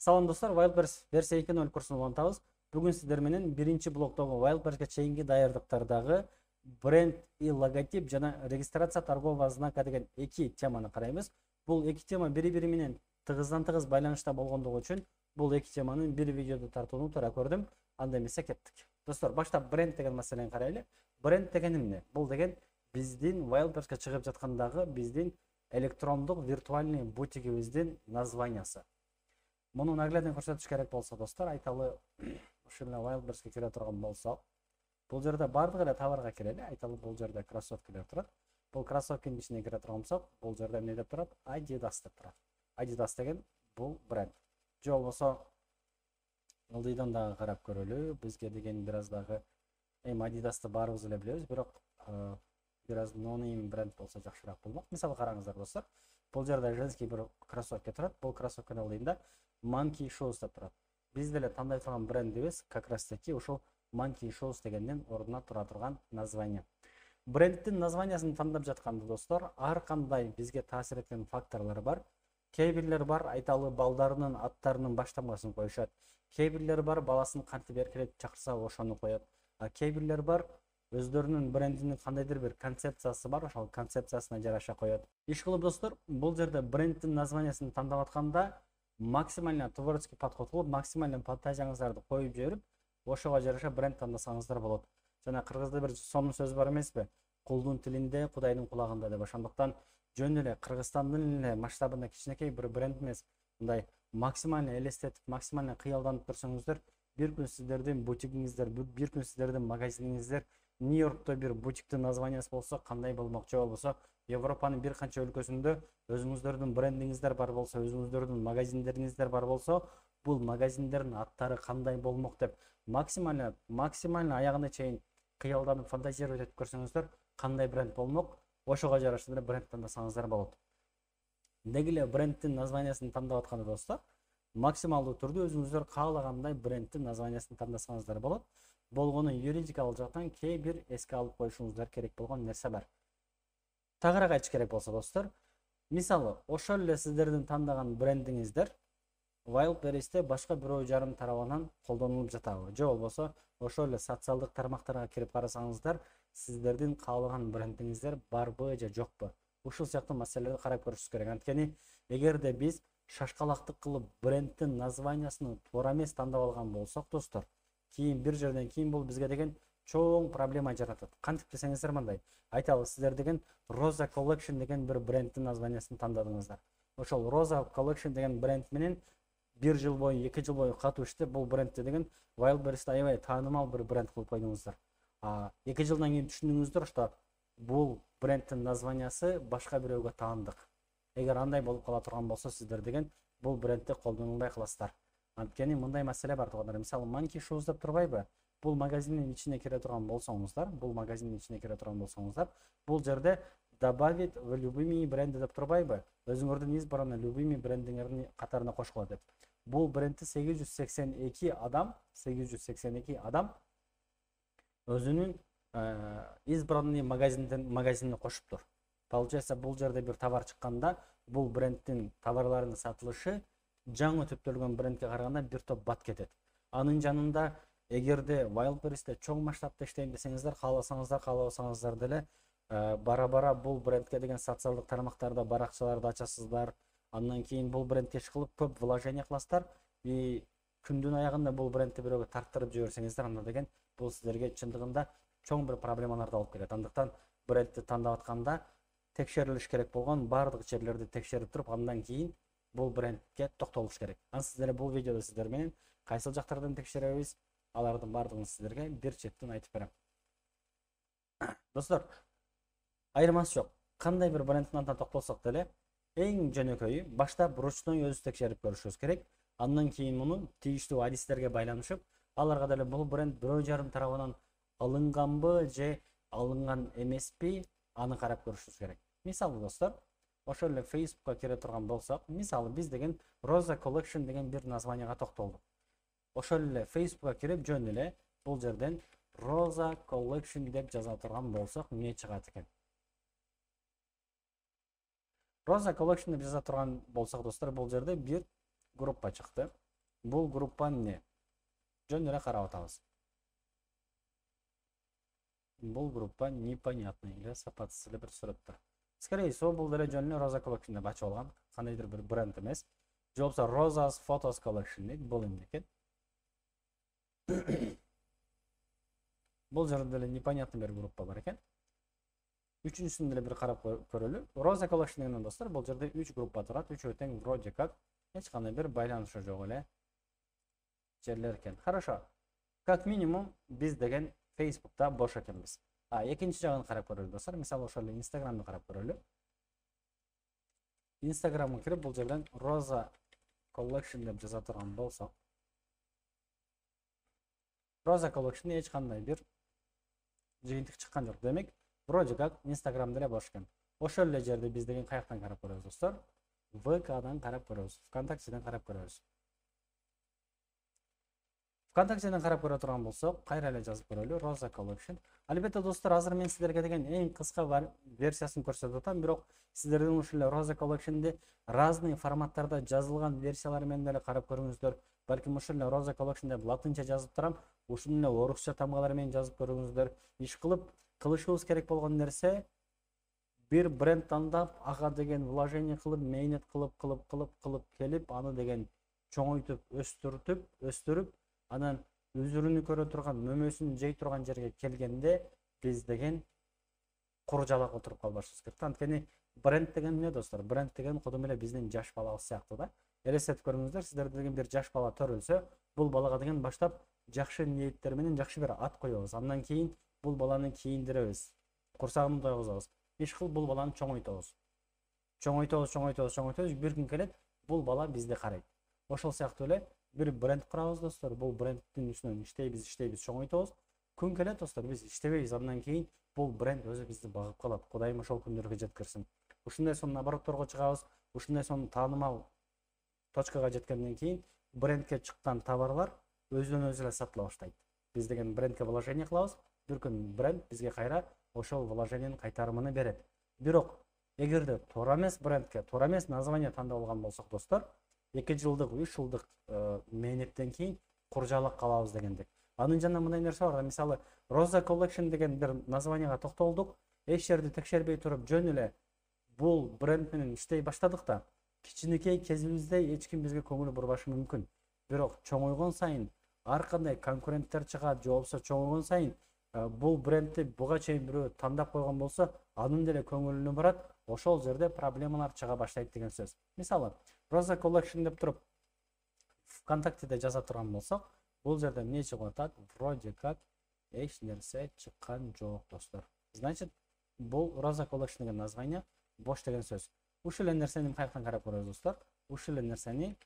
Салам достор, Wildberries версия 2.0 курсун улантабыз. Бүгүн сиздер менен биринчи блоктогу Wildberries'ке чейинки даярдыктардагы бренд и логотип жана регистрация торгового знака деген эки теманы карайбыз. Бул эки тема бири-бири менен тыгыздан-тыгыз байланышта болгондугу үчүн бул эки теманы бир видеодо тартууну туура көрдүм. Анда эмесе кеттик. Достор, баштап бренд деген маселени карайлы. Бренд деген эмне? Бул деген биздин Wildberries'ке чыгып жаткандагы биздин электрондук виртуальный бутигибиздин названиясы. Муну наглядно көрсөтүш керек болсо достор, айталы ушул эле Wildberries'ке кире турган болсок, бул жерде бардык эле товарга кирели. Айталы бул жерде кроссовкалар турат. Бул кроссовканын ичине кире турган болсок, бул жерде эмне деп турат? Adidas деп турат. Adidas деген бул бренд. Же болбосо ылдыйдан дагы карап көрөлү. Бизге деген бир аз дагы Adidas'ты баарыбыз эле билебиз, бирок бир аз no-name бренд болсо жакшыраак болмок. Мисалы караңыздар достор. Бул жерде женский бир кроссовка турат. Бул кроссовканын ылдыйында Monkey Shoes деп турат. Биз деле тандай турган брендибиз как раз таки ушул Monkey Shoes дегендин ордуна тура турган название. Брендтин названиясын тандап жатканда достор, ар кандай бизге таасир эткен факторлор бар. Кээ бирлер бар, айталы балдарынын аттарынын баштамасын коюшат. Кээ бирлер бар, баласын кантип эркелетип чакырса ошону коет. А кээ бирлер бар, өздөрүнүн брендинин кандайдыр бир концепциясы бар, ошол концепциясына жараша коет. Иш кылып достор, бул жерде брендтин названиясын тандап атканда максимально творческий подход кылып, максимально фантазияңыздарды коюп жиберип, ошого жараша бренд тандасаңыздар болот. Жана кыргызда бир сонун сөз бар эмеспи? Кулдун тилинде, Кудайдын кулагында деп. Ошондуктан жөн эле Кыргызстандын эле масштабында кичинекей бир бренд эмес, мындай максимально элестетип, максимально кыялданып көрсөңүздөр, бир күн сиздердин бутигиңиздер, бир күн сиздердин магазиниңиздер Нью-Йоркто бир бутиктин названиясы болсо кандай болмокчу, болбосо Европанын бир канча өлкөсүндө өзүңүздөрдүн брендиңиздер бар болсо, өзүңүздөрдүн магазиндериңиздер бар болсо, бул магазиндердин аттары кандай болмок деп максимально аягына чейин кыялданып фантазировать этип көрсөңүздөр, кандай бренд болмок, ошого жараша эле бренд тандасаңыздар болот. Деги эле брендтин названиясын тандап атканда достор, максималдуу түрдө өзүңүздөр каалагандай брендтин названиясын тандасаңыздар болот. Болгону юридикалык жактан кээ бир эске алып коюшуңуздар керек болгон нерсе бар. Тагыраак айтыш керек болсо достор, мисалы, ошол эле сиздердин тандаган брендиңиздер Wildberries'те башка бирөө жарым тарабынан колдонулуп жатабы, же болбосо ошол эле социалдык тармактарга кирип карасаңыздар, сиздердин каалаган брендиңиздер барбы же жокпу? Ушул сыяктуу маселелерди карап көрүшүбүз керек. Анткени эгерде биз шашкалактык кылып брендтин названиясын туура эмес тандап алган болсок достор, кийин бир жерден кийин бул бизге деген чоң проблема жаратат. Кантип десеңиздер мындай, айталы сиздер деген Rosa Collection деген бир брендтин названиясын тандадыңыздар. Ошол Rosa Collection деген бренд менен бир жыл бою, 2 жыл бою катуу иштеп, бул брендти деген Wildberries'те аябай таанымал бир бренд кылып койдуңуздар. 2 жылдан кийин түшүндүңүздөр, что бул брендтин названиясы башка бирөөгө таандык. Эгер андай болуп кала турган болсо, сиздер деген бул брендти колдонулбай каласыздар. Анткени мындай маселе бар туугандар. Мисалы, Monkey Shoes деп турбайбы? Бул магазиндин ичине кире турган болсоңуздар, бул жерде добавить в любыми бренди деп турбайбы? Өзүңөрдүн избранный любыми брендиңердин катарына кошкула деп. Бул брендти 882 адам өзүнүн избранный магазинине кошуптур. Получается, бул жерде бир товар чыкканда, бул брендтин товарларынын сатылышы жаңы түптөлгөн брендке караганда бир топ бат кетет. Анын жанында эгерде Wildberries'те чоң масштабта иштейм десеңиздер, кааласаңыздар деле бара-бара бул брендке деген социалдык тармактарда баракчаларды ачасыздар. Андан кийин бул брендке иш кылып көп вложение кыласыздар. И күндүн аягында бул брендти бирөөгө тарттырып жиберсеңиздер, анда деген бул сиздерге чындыгында чоң бир проблемаларды алып келет. Андыктан брендти тандап атканда текшерилиш керек болгон бардык жерлерди текшерип туруп, андан кийин бул брендке токтолуш керек. Сиздер бул видеодо сиздер менен кайсыл жактардан текшеребиз, алардын бардыгын сиздерге бир четтен айтып берем. Достор, айырмасы жок. Кандай бир брендтин атына токтолсок деле, эң жөнөкөйү баштап ручной өзү текшерип көрүшүбүз керек. Андан кийин муну тийиштүү адистерге байланышып, аларга деле бул бренд бирөө жарым тарабынан алынганбы же алынган эмеспи, аны карап көрүшүбүз керек. Мисалы достор, ошол эле Facebook'ка кире турган болсок, мисалы биз деген Rosa Collection деген бир названияга токтолдук. Ошол эле Facebook'ка кирип жөн эле бул жерден Rosa Collection деп жаза турган болсок, эмне чыгат экен? Rosa Collection деп жаза турган болсок достор, бул жерде бир группа чыкты. Бул группа эмне? Жөн эле карап атабыз. Бул группа непонятный или сапатсыз эле бир сүрөттөр. Скорее всего, бул деле жөн эле Rosa Collection деп ачып алган, кандайдыр бир бренд эмес. Же болбосо Rosa's Photos Collection дейт, бул эмне экен? Бул жерде деле непонятный бир группа бар экен. Үчүнчүсүн деле бир карап көрөлү. Rosa Collection деген достор, бул жерде 3 группа турат, үчөө тең вроде как эч кандай бир байланышы жок эле жерлер экен. Хорошо. Как минимум биз деген Facebook'ta бош экенбиз. Экинчи жагын карап көрөлү достор. Мисалы ошол эле Instagram'ды карап көрөлү. Instagram'га кирип бул жерден Rosa Collection деп жаза турган болсок, Rosa Collection эч кандай бир жыйынтык чыккан жок. Демек, вроде как Instagram деле бош экен. Ошол эле жерде биз деген каяктан карап көрөбүз достор? VK'дан карап көрөбүз, ВКонтактеден карап көрөбүз. ВКонтактеден карап көрө турган болсок, кайра эле жазып көрөлү Rosa Collection. Албетте достор, азыр мен сиздерге деген эң кыска версиясын көрсөтүп атам, бирок сиздердин ушул эле Rosa Collection'ди разный форматтарда жазылган версиялары менен эле карап көрүңүздөр. Балким ушул эле Rosa Collection деп латынча жазып турам, ушул эле орусча тамгалар менен жазып көрүңүздөр. Иш кылып кылышыбыз керек болгон нерсе бир бренд тандап, ага деген вложение кылып, мэйнет кылып келип, аны деген чоңойтуп, өстүрүп, анан үзүрүнү көрө турган, мөмөсүн жей турган жерге келгенде биз деген куржалак отуруп калбашыбыз керек. Анткени бренд деген эмне достор? Бренд деген кудум эле биздин жаш балабыз сыяктуу да. Элестетип көрүңүздөр, сиздер деген бир жаш бала төрөлсө, бул балага деген баштап жакшы ниеттер менен жакшы бир ат коебуз. Андан кийин бул баланы кийиндиребиз, курсагын тойгузабыз. Иш кылып бул баланы чоңойтобуз. Бир күн келет, бул бала бизди карайт. Ошол сыяктуу эле бир бренд курабыз достор. Бул брендтин үстүнөн иштейбиз, чоңойтобуз. Күн келет достор, биз иштебейбиз. Андан кийин бул бренд өзү бизди багып калат. Кудайым ошол күндөргө жеткирсин. Ушундай сонун оборотторго чыгабыз, ушундай сонун таанымал точкага жеткенден кийин брендке чыккан товарлар өзүнөн өзү эле сатыла баштайт. Биз деген брендке вложение кылабыз, бир күн бренд бизге кайра ошол вложениенин кайтарымын берет. Бирок эгерде туура эмес брендке, туура эмес название тандап алган болсок достор, 2 жылдык, 3 жылдык мэйнеттен кийин куржалак калабыз дегендик. Анын жанында мындай нерсе бар. Мисалы, Rosa Collection деген бир названияга токтолдук, эч жерди текшербей туруп жөн эле бул бренд менен иштей баштадык да, кичинекей кезибизде эч ким бизге көңүл бурбашы мүмкүн. Бирок чоңойгон сайын ар кандай конкуренттер чыгат, же болбосо чоңойгон сайын бул брендти буга чейин бирөө тандап койгон болсо, анын деле көңүлүнө барат, ошол жерде проблемалар чыга баштайт деген сөз. Мисалы, Rosa Collection деп туруп ВКонтактеде жаза турган болсок, бул жерде эмне чыгып атат? Вроде как эч нерсе чыккан жок достор. Значит, бул Rosa Collection деген название бош деген сөз. Ушул эле нерсени каяктан карап көрөбүз достор? Ушул эле нерсени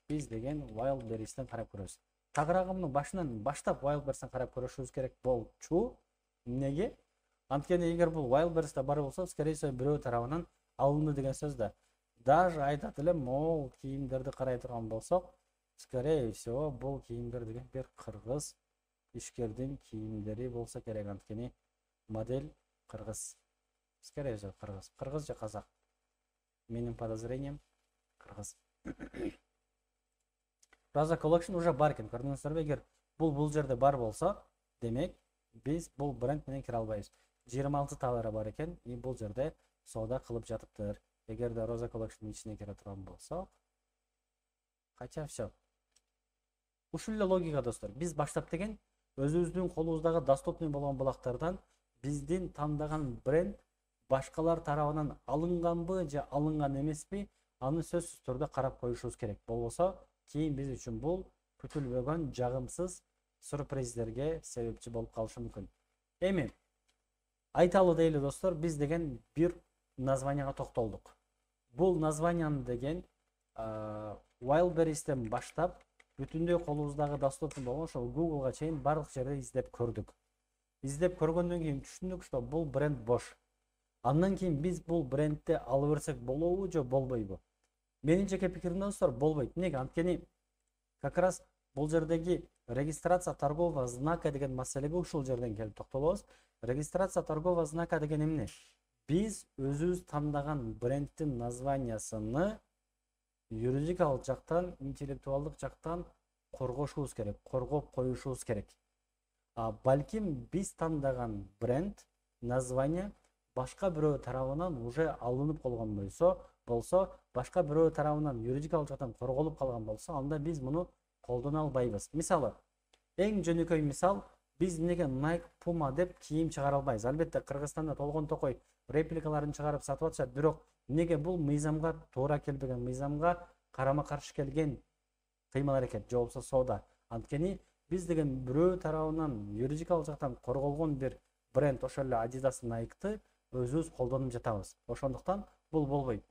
биз деген Wildberries'тен карап көрөбүз. Тагыраагымдын башынан баштап Wildberries'тен карап көрүшүбүз керек болчу. Эмнеге? Анткени эгер бул Wildberries'те бар болсо, скорее всего бирөө тарабынан алынды деген сөз да. Даже айтат эле, мол кийимдерди карай турган болсок, скорее всего бул кийимдер деген бир кыргыз ишкердин кийимдери болсо керек. Анткени модель кыргыз. Скорее всего кыргыз же казак. Менин подозрением кыргыз. Rosa Collection уже бар экен. Көрдүңүздөрбү? Эгер бул жерде бар болсо, демек биз бул бренд менен кире албайбыз. 26 товары бар экен, и бул жерде соода кылып жатыптыр. Эгерде Rosa Collection ичине кире турган болсок, кача все. Ушул эле логика достор. Биз баштап деген өзүбүздүн колубуздагы доступный болгон булактардан биздин тандаган бренд башкалар тарабынан алынганбы же алынган эмеспи, аны сөзсүз түрдө карап коюшубуз керек. Болбосо кийин биз үчүн бул күтүлбөгөн жагымсыз сюрприздерге себепчи болуп калышы мүмкүн. Эми айталы дейли достор, биз деген бир названияга токтолдук. Бул названияны деген Wildberries'тен баштап бүтүндөй колубуздагы доступный болгон ошол Google'га чейин барлык жерде издеп көрдүк. Издеп көргөндөн кийин түшүндүк, что бул бренд бош. Андан кийин биз бул брендти алып берсек болобу же болбойбу? Менин жеке пикирим достор, болбойт. Эмнеге? Анткени как раз бул жердеги регистрация торгового знака деген маселеге ушул жерден келип токтолобуз. Регистрация торгового знака деген эмне? Биз өзүбүз тандаган брендтин названиясыны юридикалык жактан, интеллектуалдык жактан коргошубуз керек, коргоп коюшубуз керек. Балким биз тандаган бренд, название башка бирөө тарабынан уже алынып калган болсо, башка бирөө тарабынан юридикалык жактан корголуп калган болсо, анда биз муну колдоно албайбыз. Мисалы, эң жөнөкөй мисал, биз эмнеге Nike, Puma деп кийим чыгара албайбыз? Албетте Кыргызстанда толгон токой репликаларын чыгарып сатып атышат, бирок эмнеге бул мыйзамга туура келбеген, мыйзамга карама каршы келген кыймыл-аракет же болбосо соода. Анткени биз деген бирөө тарабынан юридикалык жактан корголгон бир бренд, ошол эле Adidas, Nike'ты өзүбүз колдонуп жатабыз. Ошондуктан бул болбойт.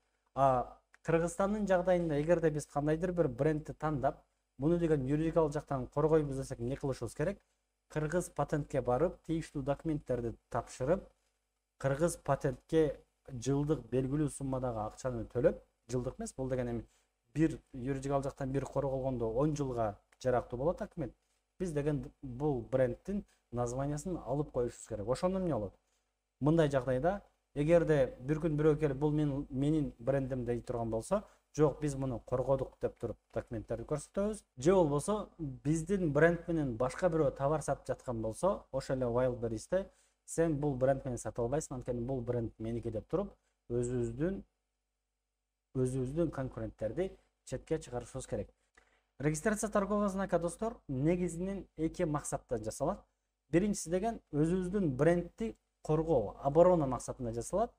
Кыргызстандын жагдайында эгерде биз кандайдыр бир брендти тандап, муну деген юридикалык жактан коргойбуз десек, эмне кылышыбыз керек? Кыргыз патентке барып, тийиштүү документтерди тапшырып, Кыргыз патентке жылдык белгилүү суммадагы акчаны төлөп, жылдык эмес, бул деген эми бир юридикалык жактан бир корголгондо 10 жылга жарактуу болот документ. Биз деген бул брендтин названиясын алып коюшубуз керек. Ошондо эмне болот? Мындай жагдайда, эгерде бир күн бирөө келип бул менин брендим дей турган болсо, жок, биз муну коргодук деп туруп документтерди көрсөтөбүз. Же болбосо биздин бренд менен башка бирөө товар сатып жаткан болсо, ошол эле Wildberries'те сен бул бренд менен сатып албайсың, анткени бул бренд меники деп туруп, өзүбүздүн конкуренттерди четке чыгарышыбыз керек. Регистрация торгового знака, достор, негизинен эки максаттан жасалат. Биринчиси деген өзүбүздүн брендти коргоо, оборона максатында жасалат.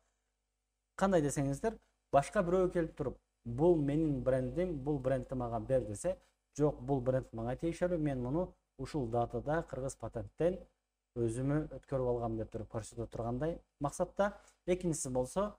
Кандай десеңиздер, башка бирөө келип туруп, бул менин брендим, бул брендти мага бер десе, жок, бул бренд мага тиешелүү, мен муну ушул датада Кыргыз патенттен өзүмө өткөрүп алгам деп туруп көрсөтө тургандай максатта. Экинчиси болсо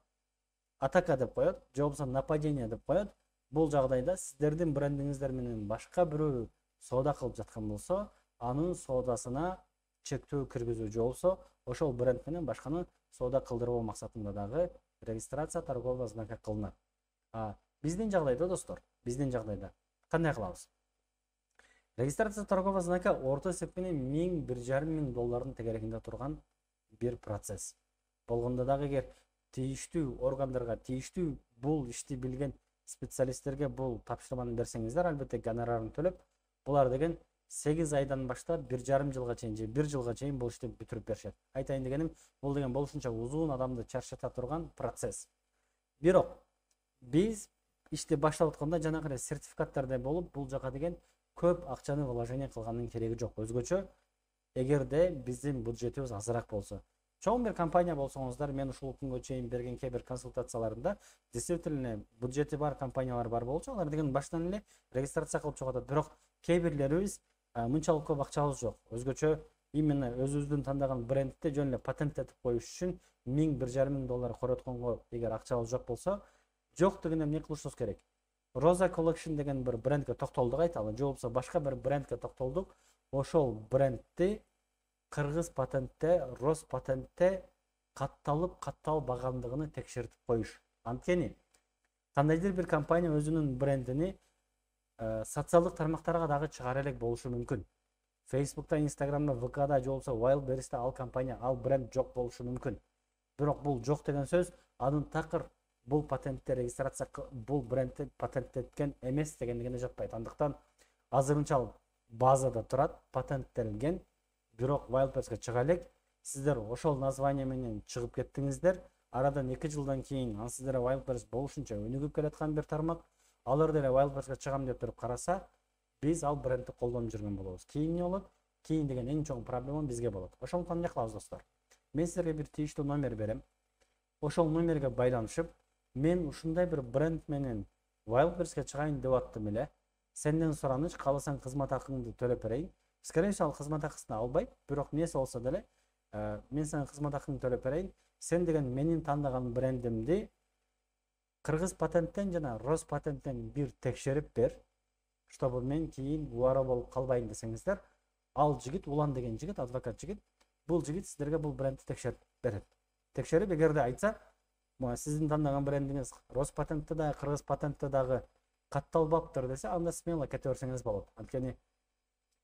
атака деп коет, же болбосо нападение деп коет. Бул жагдайда сиздердин брендиңиздер менен башка бирөө соода кылып жаткан болсо, анын соодасына чектөө киргизүү, же болбосо ошол бренд менен башканы соода кылдырбоо максатында дагы регистрация торгового знака кылынат. Биздин жагдайда, достор, биздин жагдайда кандай кылабыз? Регистрация торгового знака орто эсеп менен $1,500 тегерегинде турган бир процесс. Болгондо дагы эгер тийиштүү органдарга, тийиштүү бул ишти билген специалисттерге бул тапшырманы берсеңиздер, албетте гонорарын төлөп, булар деген 8 айдан баштап 1,5 жылга чейин же 1 жылга чейин бул ишти бүтүрүп беришет. Айтайын дегеним, бул деген болушунча узун, адамды чарчата турган процесс. Бирок биз ишти баштап атканда жанагы сертификаттарда болуп, бул жака деген көп акчаны вложение кылгандын кереги жок. Өзгөчө эгерде биздин бюджетибиз азыраак болсо. Чоң бир компания болсоңуздар, мен ушул күнгө чейин берген кээ бир консультацияларымда действительно бюджети бар компаниялар бар болчу. Алар деген баштан эле регистрация кылып чыгып атат. Бирок кээ бирлерибиз мынчалык көп акчабыз жок. Өзгөчө именно өзүбүздүн тандаган брендти жөн эле патенттетип коюш үчүн $1,500 коротконго эгер акчабыз жок болсо, жок дегенде эмне кылышыбыз керек? Rosa Collection деген бир брендке токтолдук айталы, же болбосо башка бир брендке токтолдук. Ошол брендти Кыргыз патентте, Роспатентте катталбагандыгын текшертип коюш. Анткени кандайдыр бир компания өзүнүн брендини социалдык тармактарга дагы чыгара элек болушу мүмкүн. Facebook'та, Instagram'da, VK'да же болбосо Wildberries'те ал компания, ал бренд жок болушу мүмкүн. Бирок бул жок деген сөз, анын такыр бул патентте регистрация, бул брендти патенттеткен эмес дегендигине жатпайт. Андыктан азырынча базада турат, патенттелген, бирок Wildberries'ке чыга элек. Сиздер ошол название менен чыгып кеттиңиздер. Арадан 2 жылдан кийин ан сиздер Wildberries болушунча өнүгүп келаткан бир тармак. Алар деле Wildberries'ке чыгам деп туруп караса, биз ал брендти колдонуп жүргөн болобуз. Кийин эмне болот? Кийин деген эң чоң проблема бизге болот. Ошондуктан эмне кылабыз, достор? Мен силерге бир тийиштүү номер берем. Ошол номерге байланышып, мен ушундай бир бренд менен Wildberries'ке чыгайын деп аттым эле. Сенден сураныч, кааласаң кызмат акыңды төлөп берейин. Скорее всего, ал кызмат акысын албайт, бирок эмнеси болсо деле, мен сага кызмат акыңды төлөп берейин. Сен деген менин тандаган брендимди Кыргыз патенттен жана Роспатенттен бир текшерип бер, чтобы мен кийин убара болуп калбайын десеңиздер, ал жигит, Улан деген жигит, адвокат жигит, бул жигит сиздерге бул брендти текшерип берет. Текшерип, эгерде айтса, сиздин тандаган брендиңиз Роспатентте дагы, Кыргыз патентте дагы катталбаптыр десе, анда смело кете берсеңиз болот. Анткени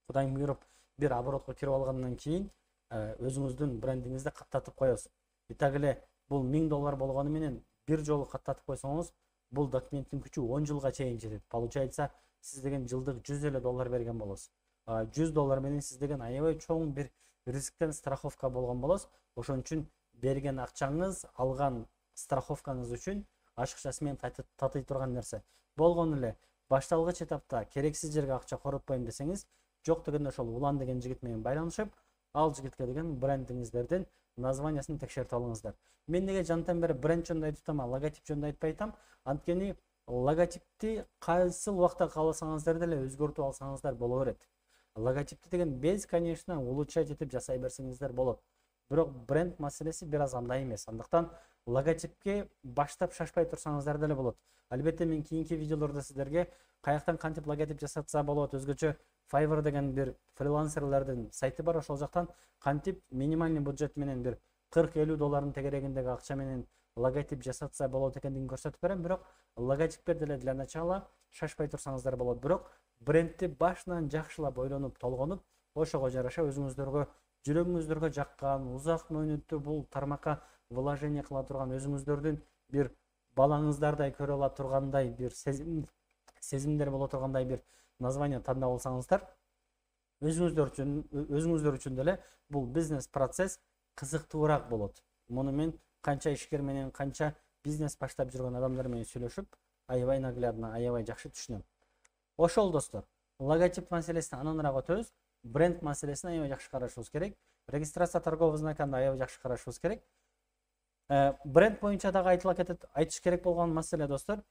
Кудайым буйруп бир оборотко кирип алгандан кийин өзүңүздүн брендиңизди каттатып коесуз. И так эле бул $1000 болгону менен бир жолу каттатып койсоңуз, бул документтин күчү 10 жылга чейин жетет. Получается, сиз деген жылдык $100 берген болосуз. $100 менен сиз деген аябай чоң бир рисктен страховка болгон болосуз. Ошон үчүн берген акчаңыз, алган страховкаңыз үчүн ашыкчасы менен татый турган нерсе. Болгон эле башталгыч этапта керексиз жерге акча коротпойм десеңиз, жок дегенде ошол Улан деген жигит менен байланышып, ал жигитке деген брендиңиздердин названиясын текшертип алыңыздар. Мен неге жантан бери бренд жөнүндө айтып атам, логотип жөнүндө айтпай атам? Анткени логотипти кайсыл убакта кааласаңыздар деле өзгөртүп алсаңыздар боло берет. Логотипти деген без, конечно, улучшать этип жасай берсеңиздер болот. Бирок бренд маселеси бир аз андай эмес. Андыктан логотипке баштап шашпай турсаңыздар деле болот. Албетте мен кийинки видеолордо сиздерге каяктан кантип логотип жасатса болот, өзгөчө Fiverr деген бир фрилансерлердин сайты бар, ошол жактан кантип минимальный бюджет менен бир $40-50 тегерегиндеги акча менен логотип жасатса болот экендигин көрсөтүп берем. Бирок логотипке деле для начала шашпай турсаңыздар болот. Бирок брендти башынан жакшылап ойлонуп, толгонуп, ошого жараша өзүңүздөргө жүрөгүңүздөргө жаккан, узак мөөнөттүү бул тармакка вложение кыла турган, өзүңүздөрдүн бир балаңыздардай көрө ала тургандай бир сезимдер боло тургандай бир название тандап алсаңыздар, өзүңүздөр үчүн деле бул бизнес процесс кызыктуураак болот. Муну мен канча ишкер менен, канча бизнес баштап жүргөн адамдар менен сүйлөшүп, аябай наглядно, аябай жакшы түшүнөм. Ошол достор, логотип маселесин ананраак өтөбүз. Бренд маселесин аябай жакшы карашыбыз керек. Регистрация торговый знакын аябай жакшы карашыбыз керек. Бренд боюнча дагы айтыш керек болгон маселе достор,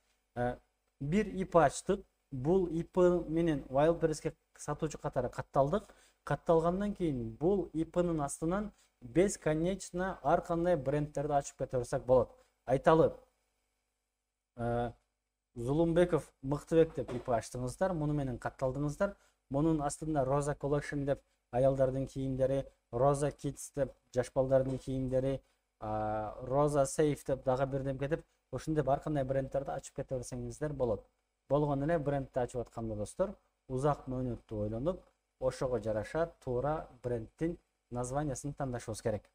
бир ИП ачтык. Бул ИП менен Wildberries'ке сатуучу катары катталдык. Катталгандан кийин бул ИПнын астынан бесконечно ар кандай брендтерди ачып кете берсек болот. Айталы, Зулумбеков Мыктыбек деп ИП ачтыңыздар, муну менен катталдыңыздар. Мунун астында Rosa Collection деп аялдардын кийимдери, Rosa Kids деп жаш балдардын кийимдери, Rosa Safe деп дагы бирдемке деп, ошондой ар кандай брендтерди ачып кете берсеңиздер болот. Болгон эле брендти ачып атканда достор, узак мөөнөттүү ойлонуп, ошого жараша туура брендтин названиясын тандашыбыз керек.